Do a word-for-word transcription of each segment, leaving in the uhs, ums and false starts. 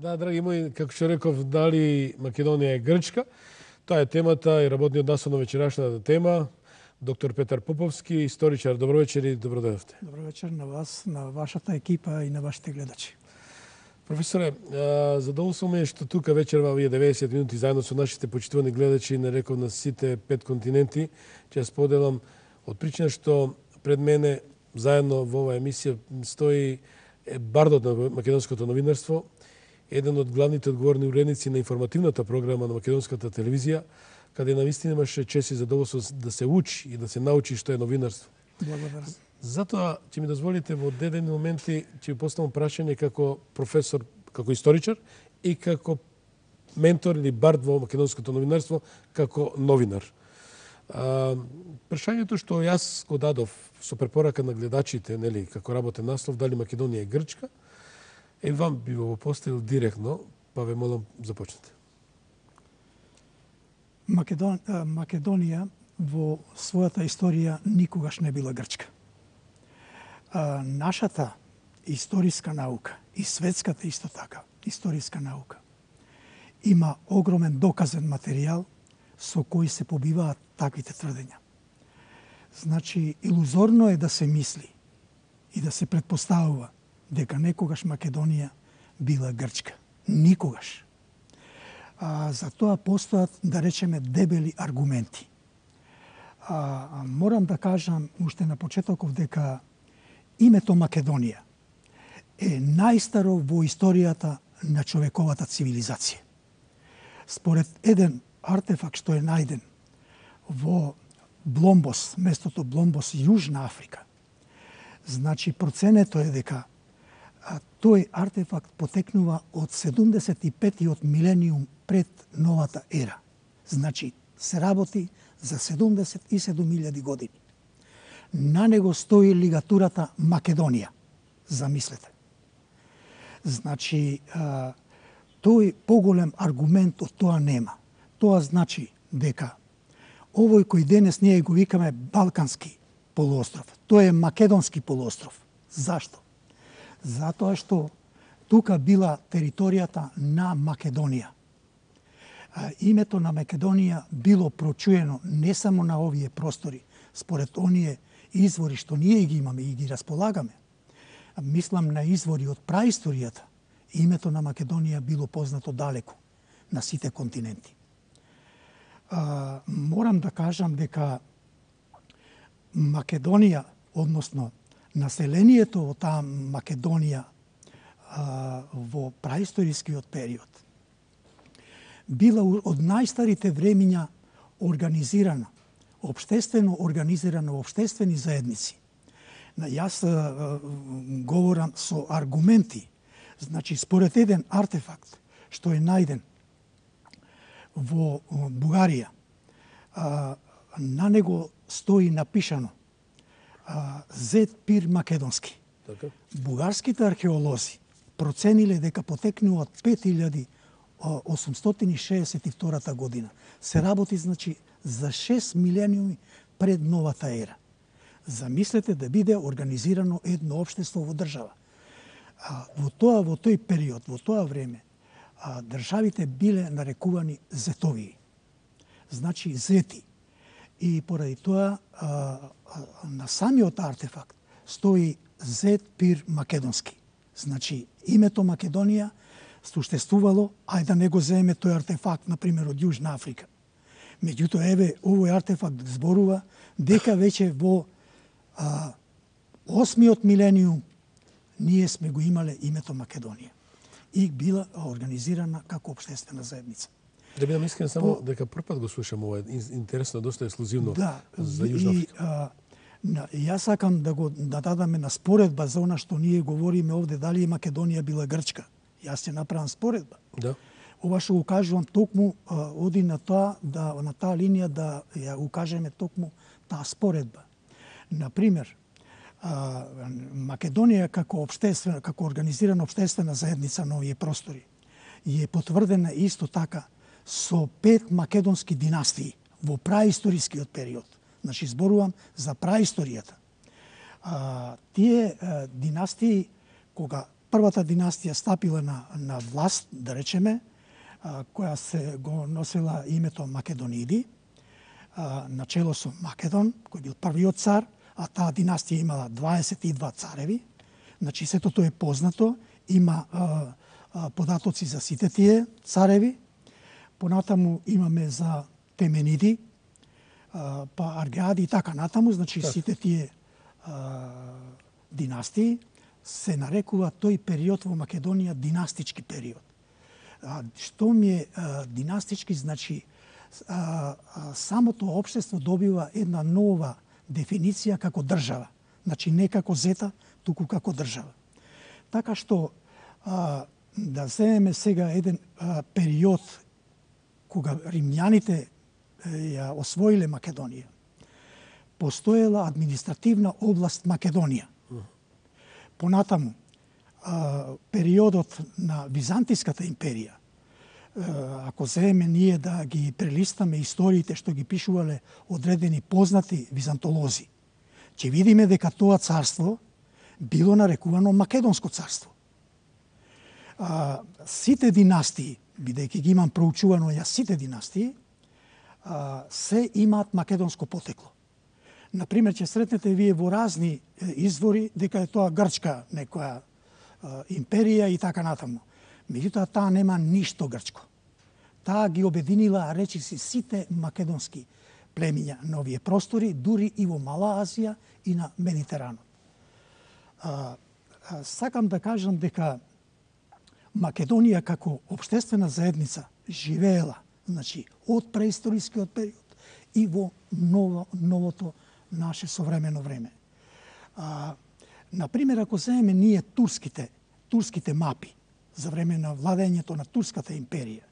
Да, драги мои, како што реков, дали Македонија е Грчка? Тоа е темата и работниот насод на вечерашната тема. Доктор Петар Поповски, историчар. Добро вечер и добро дојдовте. Добро вечер на вас, на вашата екипа и на вашите гледачи. Професоре, задоволство ми е што тука вечерва овие деветдесет минути заедно со нашите почитувани гледачи, не реков на сите пет континенти, ќе споделам од причина што пред мене заедно во оваа емисија стои бардот на македонското новинарство, еден од главните одговорни уредници на информативната програма на македонската телевизија, каде навистина имаше чест и задоволство да се учи и да се научи што е новинарство. Благодарам. Затоа ќе ми дозволите во дедени моменти ќе ви поставам прашање како професор, како историчар и како ментор или бард во македонското новинарство, како новинар. А, прашањето што јас го дадов со препорака на гледачите, нели, како работен наслов, дали Македонија е Грчка, е вам би го поставил директно, па ве молам започнете. Македон... Македонија во својата историја никогаш не била Грчка. А, нашата историска наука и светската исто така историска наука има огромен доказен материјал со кој се побиваат таквите тврдења. Значи, илузорно е да се мисли и да се предпоставува дека некогаш Македонија била Грчка. Никогаш. А, за тоа постојат, да речеме, дебели аргументи. А, морам да кажам уште на почетоков дека името Македонија е најстаро во историјата на човековата цивилизација. Според еден артефакт што е најден во Бломбос, местото Бломбос, Јужна Африка, значи проценето е дека а, тој артефакт потекнува од седумдесет и петтиот милениум пред новата ера. Значи се работи за седумдесет и седум илјади години. На него стои лигатурата Македонија. Замислете. Значи, а, тој поголем аргумент од тоа нема. Тоа значи дека овој кој денес ние го викаме Балкански полуостров, тој е Македонски полуостров. Зашто? Затоа што тука била територијата на Македонија. А, името на Македонија било прочуено не само на овие простори, според оние извори што ние ги имаме и ги располагаме. Мислам на извори од праисторијата. Името на Македонија било познато далеку на сите континенти. А, морам да кажам дека Македонија, односно населението во таа Македонија а, во праисторискиот период, била од најстарите времиња организирана, општествено организирана во општествени заедници. Јас а, говорам со аргументи. Значи, според еден артефакт што е најден во Бугарија, а, на него стои напишано а, Зет Пир Македонски. Така? Бугарските археолози процениле дека потекнува од пет илјади осумстотини и шеесет и втора година. Се работи, значи, за шест милениуми пред новата ера. Замислете да биде организирано едно општество во држава. А, во тоа, во тој период, во тоа време, а, државите биле нарекувани зетовии. Значи, зети. И поради тоа, а, а, на самиот артефакт стои Зет Пир Македонски. Значи, името Македонија суштествувало, ајде да не го земеме тој артефакт, например, од Јужна Африка. Меѓутоа, еве, овој артефакт зборува дека веќе во а, осмиот милениум ние сме го имале името Македонија и била организирана како општествена заедница. Да бидам искрен, само По... дека прв пат го слушам ова, интересно, доста ексклузивно да, за Јужна Африка. И, а, на, јас сакам да го да дадаме на споредба за она што ние говориме овде, дали Македонија била Грчка. Јас ќе направам споредба. Да. Ова што го кажувам токму а, оди на тоа, да, на таа линија да ја го кажеме токму таа споредба. Например, а, Македонија како општествена, како организирана општествена заедница на овие простори е потврдена исто така со пет македонски династии во праисторискиот период. Значи, зборувам за праисторијата. А, тие а, династии, кога првата династија стапила на, на власт, да речеме, а, која се го носила името Македониди, а, начело со Македон, кој бил првиот цар, а таа династија имала дваесет и два цареви. Значи, сето тоа е познато, има а, а, податоци за сите тие цареви. Понатаму имаме за Темениди, а, па Аргеади и така натаму, значи так. Сите тие а, династии се нарекува тој период во Македонија династички период. А, што ми е а, династички, значи а, а, самото општество добива една нова дефиниција како држава. Значи не како зета, туку како држава. Така што а, да земеме сега еден а, период кога римјаните ја освоиле Македонија, постоела административна област Македонија. Понатаму, а, периодот на Византиската империја, а, ако земеме ние да ги прелистаме историите што ги пишувале одредени познати византолози, ќе видиме дека тоа царство било нарекувано Македонско царство. А, сите династии, бидејќи ги имам проучувано ја сите династии, а, се имаат македонско потекло. Например, ќе сретнете вие во разни извори дека е тоа грчка некоја а, империја и така натаму. Меѓутоа, таа нема ништо грчко. Таа ги обединила, речиси, сите македонски племиња на овие простори, дури и во Мала Азија и на Медитеранот. А, а, сакам да кажам дека Македонија како општествена заедница живеела, значи, од преисторискиот период и во ново, новото наше современо време. А, например, ако земеме ние турските, турските мапи за време на владењето на Турската империја,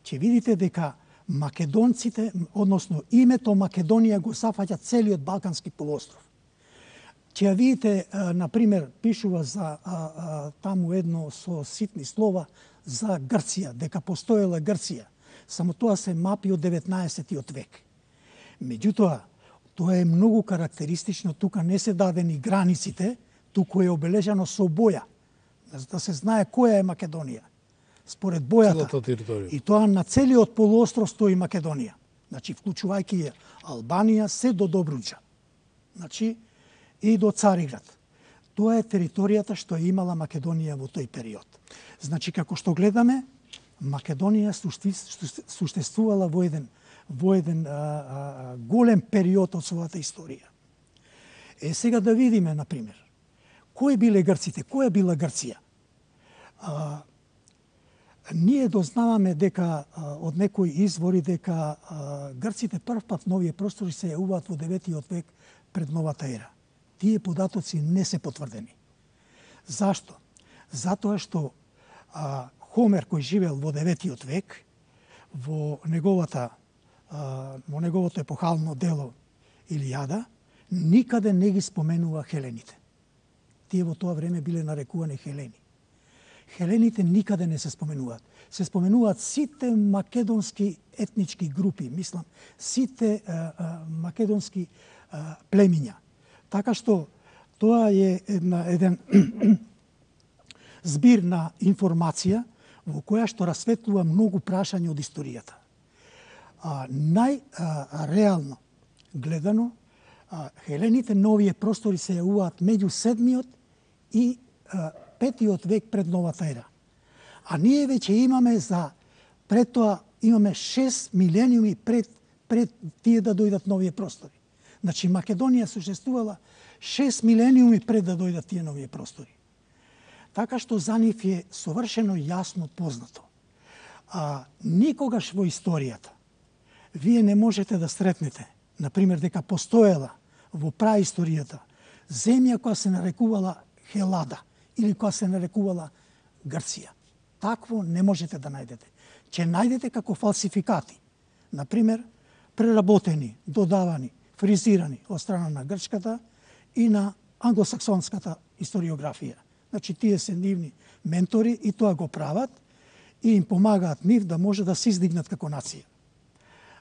ќе видите дека македонците, односно името Македонија го зафаќа целиот Балкански полуостров. Ќе ја видите, например, пишува за а, а, таму едно со ситни слова за Грција, дека постоела Грција. Само тоа се мапи од деветнаесеттиот век. Меѓутоа, тоа е многу карактеристично, тука не се дадени границите, туку е обележано со боја, да се знае која е Македонија, според бојата. И тоа на целиот полуостров стои Македонија. Значи, вклучувајќи ја Албанија, се до Добруџа. Значи, и до Цариград. Тоа е територијата што е имала Македонија во тој период. Значи, како што гледаме, Македонија суштествувала во еден, во еден а, а, голем период од својата историја. Е, сега да видиме, например, кои биле грците, која била Грција? А, ние дознаваме дека а, од некои извори дека а, грците прв пат на овие простори се јавуваат во деветиот век пред новата ера. Тие податоци не се потврдени. Зашто? Затоа што а, Хомер, кој живеел во деветиот век, во неговата а, во неговото епохално дело Илијада, никаде не ги споменува хелените. Тие во тоа време биле нарекувани хелени. Хелените никаде не се споменуваат. Се споменуваат сите македонски етнички групи, мислам, сите а, а, македонски а, племиња. Така што тоа е една, еден збир на информација во која што расветлува многу прашања од историјата. А, најреално гледано, а, хелените на овие простори се јавуваат меѓу седмиот и а, петиот век пред новата ера. А ние веќе имаме за пред тоа имаме шест милениуми пред пред тие да дојдат новие простори. Значи Македонија существувала шест милениуми пред да дојдат тие новие простори. Така што за нив е совршено јасно познато. А никогаш во историјата вие не можете да сретнете, например, дека постоела во праисторијата земја која се нарекувала Хелада или која се нарекувала Грција. Такво не можете да најдете. Ќе најдете како фалсификати. Например, преработени, додавани, фризирани од страна на грчката и на англосаксонската историографија. Значи, тие се нивни ментори и тоа го прават и им помагаат нив да може да се издигнат како нација.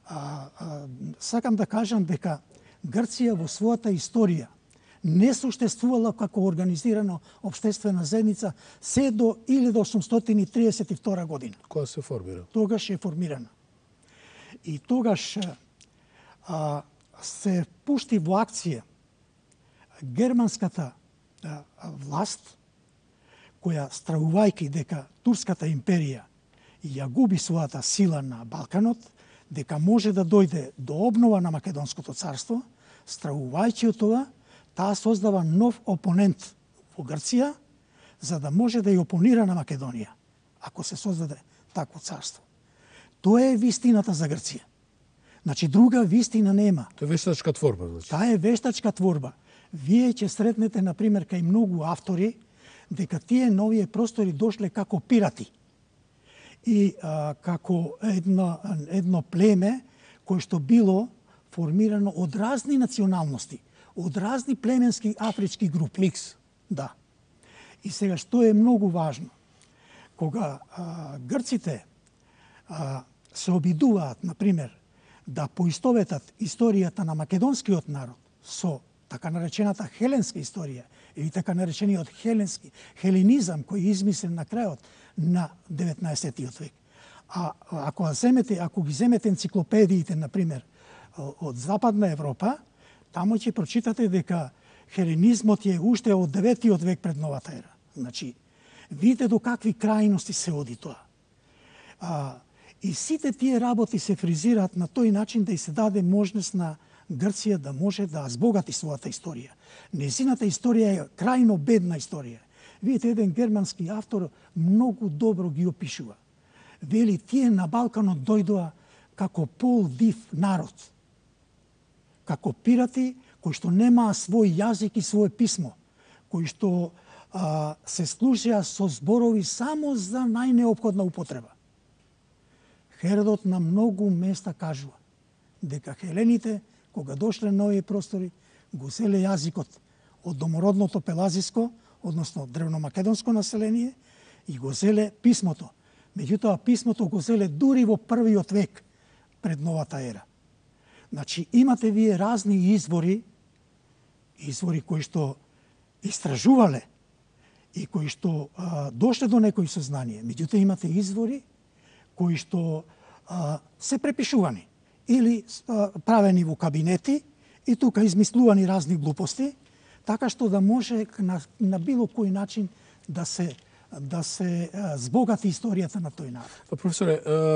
А, а, сакам да кажам дека Грција во својата историја не существувала како организирана обштествена заедница се до илјада осумстотини триесет и втора година. Кога се формира? Тогаш е формирана. И тогаш а, се пушти во акција германската а, власт, која стравувајќи дека Турската империја ја губи својата сила на Балканот, дека може да дојде до обнова на Македонското царство, стравувајќи од тоа, таа создава нов опонент во Грција, за да може да ја опонира на Македонија, ако се создаде такво царство. Тоа е вистината за Грција. Значи, друга вистина нема. Тоа е вештачка творба, значи. Таа е вештачка творба. Вие ќе сретнете, например, кај многу автори, дека тие новие простори дошле како пирати. И а, како едно, едно племе кое што било формирано од разни националности, од разни племенски афрички групи. Микс. Да. И сега, што е многу важно, кога а, грците а, се обидуваат, например, да поистоветат историјата на македонскиот народ со така наречената хеленска историја или така наречениот хеленски хеленизам кој е измислен на крајот на деветнаесеттиот век. А ако земете, ако ги земете енциклопедиите, например, од Западна Европа, таму ќе прочитате дека хеленизмот е уште од деветиот век пред новата ера. Значи, видите до какви крајности се оди тоа. А, и сите тие работи се фризираат на тој начин да и се даде можност на Грција да може да збогати својата историја. Незината историја е крајно бедна историја. Видите, еден германски автор многу добро ги опишува. Вели, тие на Балканот дојдоа како полдив народ, како пирати кои што немаа свој јазик и своје писмо, кои што а, се служеа со зборови само за најнеопходна употреба. Херодот на многу места кажува дека хелените, кога дошле на овие простори, го зеле јазикот од домородното пелазиско, односно древномакедонско население, и го зеле писмото. Меѓутоа, писмото го зеле дури во првиот век пред новата ера. Значи, имате вие разни извори, извори кои што истражувале и кои што а, дошле до некои сознание. Меѓутоа, имате извори кои што а, се препишувани или а, правени во кабинети и тука измислувани разни глупости, така што да може на, на било кој начин да се да се а, збогати историјата на тој народ. Професоре,